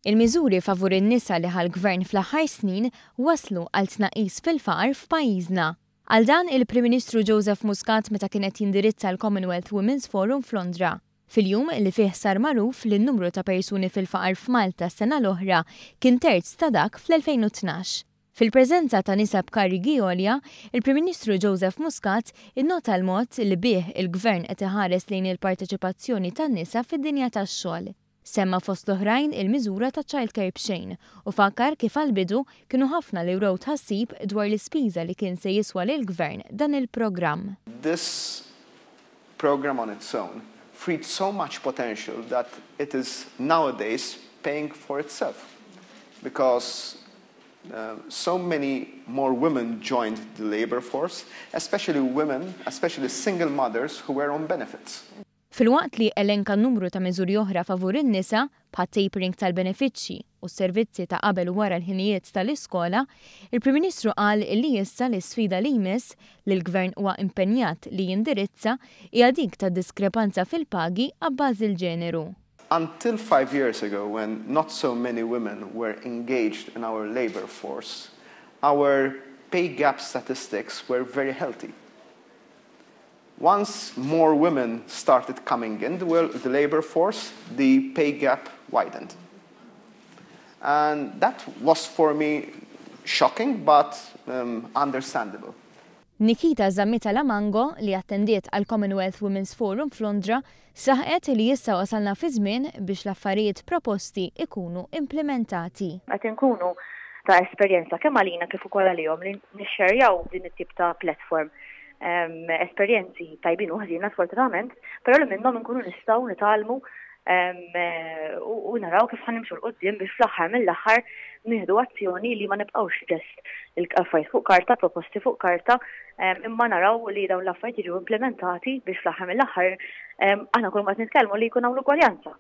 Il-miżuri favur in-nisa li ħa l-Gvern fl-aħħar snin waslu għal tnaqqis fil-faqar f'pajjiżna. Qal dan il-Prim Ministru Joseph Muscat meta kien qed jindirizza l-Commonwealth Women's Forum f'Londra, fil-jum li fih sar magħruf li n-numru ta' persuni fil-faqar f'Malta s-sena l-oħra kien terz ta' dak fl-2012. Fil-preżenza ta' nisa b'karigi għolja, il-Prim Ministru Joseph Muscat innota l-mod li bih il-Gvern qed iħares lejn il-parteċipazzjoni tan-nisa fid-dinja tax-xogħol. Semma fost l-oħrajn il-miżura ta' childcare b'xejn u fakkar kif għall-bidu kienu ħafna li wrew tħassib dwar l-ispiża li kien se jiswa lill-Gvern dan il-programm. This program on its own freed so much potential that it is nowadays paying for itself because so many more women joined the labor force, especially women, especially single mothers who were on benefits. Filwaqt li elenka numru ta' miżuri oħra favur in-nisa, bħat-tapering tal-benefiċċji u s-servizzi ta' qabel u wara l-ħinijiet tal-iskola, il-Prim Ministru qal li issa l-isfida li jmiss li l-Gvern huwa impenjat li jindirizza hija dik ta' diskrepanza fil-pagi abbażi l-ġeneru. Until 5 years ago, when not so many women were engaged in our labor force, our pay gap statistics were very healthy. Once more women started coming in the labor force, the pay gap widened. And that was for me shocking, but understandable. Nikita Zammit Alamango, li attendiet għal Commonwealth Women's Forum f'Londra, saħqet li issa wasalna fi żmien biex l-affarijiet proposti ikunu implementati. Qed inkunu ta' esperjenza kemm għalina kif ukoll għalihom li nixxerjaw din it-tip ta' platform, esperjenzi tajbin u ħżiena sfortunatament, però li minnhom inkunu nistgħu nitgħallmu u naraw kif ħa nimxu 'l quddiem biex fl-aħħar mill-aħħar nieħdu azzjoni li ma nibqgħux just il-affarijiet fuq karta, proposti fuq karta, imma naraw li dawn l-affarijiet jiġu implementati biex fl-aħħar mill-aħħar aħna kull ma nitkellmu li jkun hawn l-ugwaljanza.